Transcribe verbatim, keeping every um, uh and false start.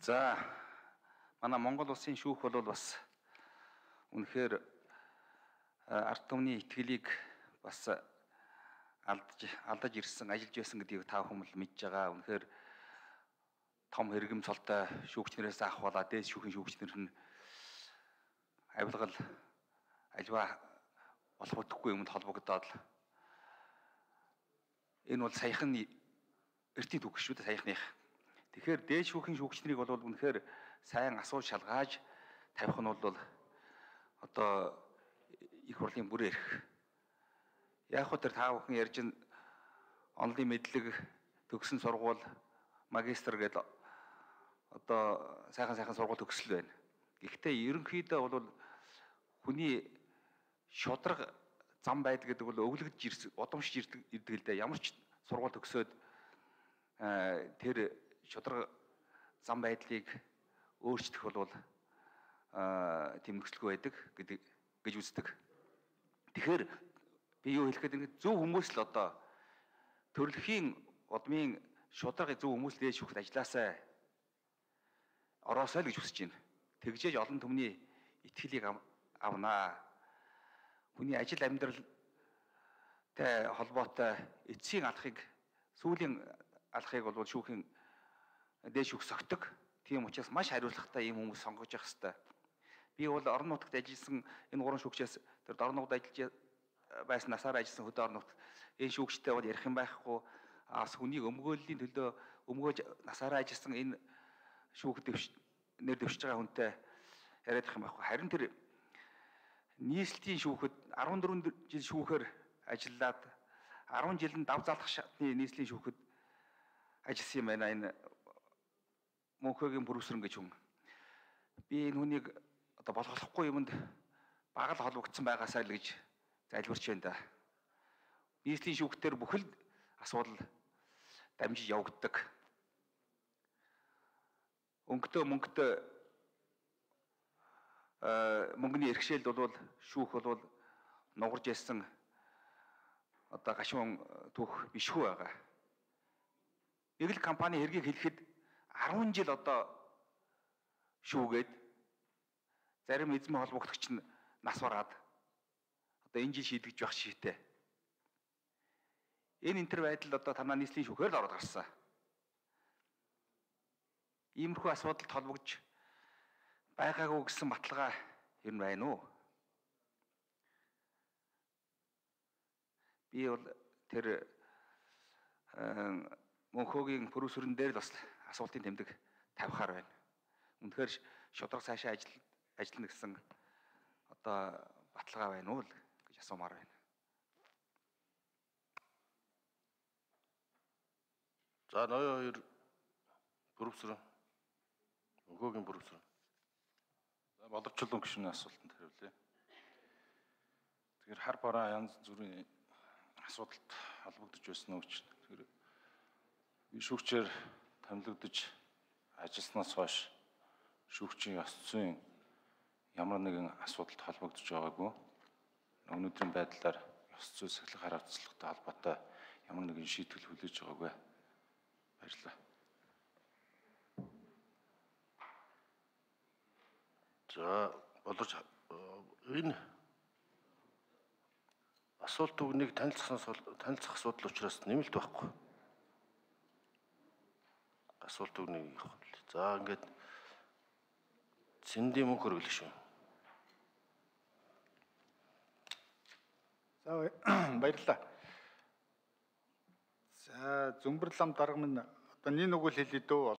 За манай Монгол улсын шүүх бол бас үнэхээр ард түмний итгэлийг бас алдаж алдаж ирсэн, ажиллаж байсан гэдгийг та бүхэн л мэдж байгаа. Үнэхээр том хэрэгэм цолтой шүүгчнэрээс ахвалаа дээд шүүхийн шүүгчнэр нь авилгал альва болох утгагүй юмд холбогдоод энэ бол саяхан эртний түүх шүү дээ, саяхных. Тэгэхээр дээд шүүхийн шүүгчнэрийг бол үнэхээр сайн асууж шалгааж тавих нь бол одоо их хурлын бүрээр эрх. Яг хөө тэр та бүхэн ярьж ин онлын мэдлэг төгсөн сургууль магистр гэдэг одоо сайхан сайхан сургууль төгсөл байна. Гэхдээ ерөнхийдөө бол хүний шудраг зам байдал гэдэг бол өвлөгдөж ирсэн, удамшиж ирдэг л дээ. Ямар ч сургууль төгсөөд тэр шудраг зам байдлыг өөрчлөх бол тийм нөхцөлгүй байдаг гэдэг гэж үздэг. Тэгэхээр би юу хэлэх гээд зөв хүмүүс л одоо төрөлхийн удмын шудраг зөв хүмүүс л дээд шүүхт ажилласаа ороосоо л гэж хүсэж байна. Тэгжээж олон түмний итгэлийг авнаа. Хүний ажил амьдралтай холбоотой эцсийн алхахыг, сүүлийн алхахыг бол шүүхийн дээд шүүх согтдог. Тийм учраас маш хариуцлагатай ийм хүмүүс сонгож явах хэрэгтэй. Би бол орон нутагт ажилласан энэ гурван шүүгчээс тэр орон нутагт ажиллаж байсан насаараа ажилласан хөдөө орон нутагт энэ шүүгчтэй бол ярих юм байхгүй. Аас хүнийг өмгөөллийн төлөө өмгөөж насаараа ажилласан энэ шүүх дэвш нэр дэвшиж байгаа хүнтэй яриад их юм байхгүй. Харин тэр нийслэлийн шүүхэд арван дөрвөн жил шүүхээр ажиллаад арван жилд дав залах шатны нийслэлийн шүүхэд ажилласан юм байна энэ Мөнхөгийн Бүрүсрэн гэж хүн. Би энэ хүнийг одоо болохгүй юмд бага л холбогдсон байгаасаа л гэж залбирч байна да. Нийслэлийн шүүхтэр бүхэл асуудал дамжиж явагддаг. Өнгөтэй мөнгөтэй мөнгөний эрхшээлд бол шүүх бол нугарж ясан одоо гашуун түүх бишгүй байгаа. Нэг л компани хэргийг хэлэхэд арван жил одоо шүүгээд зарим эзэмийн холбогдогч нь нас бараад одоо энэ жил шийдэгдэж байх шийдтэй. Энэ энтер байдал одоо танаа нийслэлийн шүүхээр л ороод гарсан. Иймэрхүү асуудалд холбогдож байгаагүй гэсэн баталгаа ер нь байна уу? Би бол тэр Мөнхөгийн Бүрүсрэн дээр л бас асуултын тэмдэг тавихаар байна. Үнэхээр шудраг цаашаа ажил ажиллана гэсэн одоо баталгаа байна уу л гэж асуумаар байна. За ноён хоёр Бүрүсрэн Мөнхөгийн Бүрүсрэн. За боловчлон гишүүний асуултанд хариулъя. Тэгэхээр хар бараа янз бүрийн асуудалд холбогдож байсан үг чинь. Тэгэхээр би шүүгчээр томилогдож ажилласнаас хойш шүүгчийн ёс зүйн ямар нэгэн асуудалд холбогдож байгаагүй. Өнөөдрийн байдлаар ёс зүй сахилга хариуцлагатай холбоотой ямар нэгэн шийтгэл хүлээж байгаагүй. Баярлалаа. За боловч энэ асуулт үгнийг танилцсан танилцах асуудал учраас нэмэлт байхгүй. Асуулт үгнийг явах. За ингээд Цэндийн мөнх хөргөл шүү. За баярлалаа. За Зүмбэр лам дарга минь одоо нэг нүгэл хэлээ дөө.